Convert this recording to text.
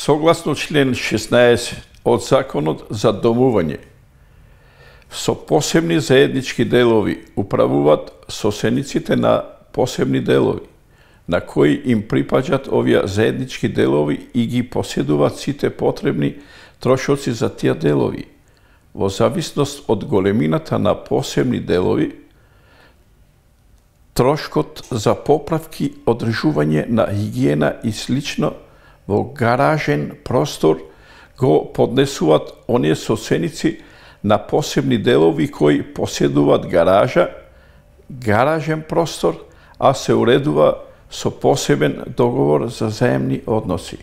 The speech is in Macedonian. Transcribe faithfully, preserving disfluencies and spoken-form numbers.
Согласно член шеснаесет од Законот за домување, со посебни заеднички делови управуваат соседниците на посебни делови, на кои им припаѓаат овие заеднички делови и ги поседуваат сите потребни трошоци за тие делови. Во зависност од големината на посебни делови, трошкот за поправки, одржување на хигиена и слично во гаражен простор го поднесуваат оние соседници на посебни делови кои поседуваат гаража, гаражен простор, а се уредува со посебен договор за заемни односи.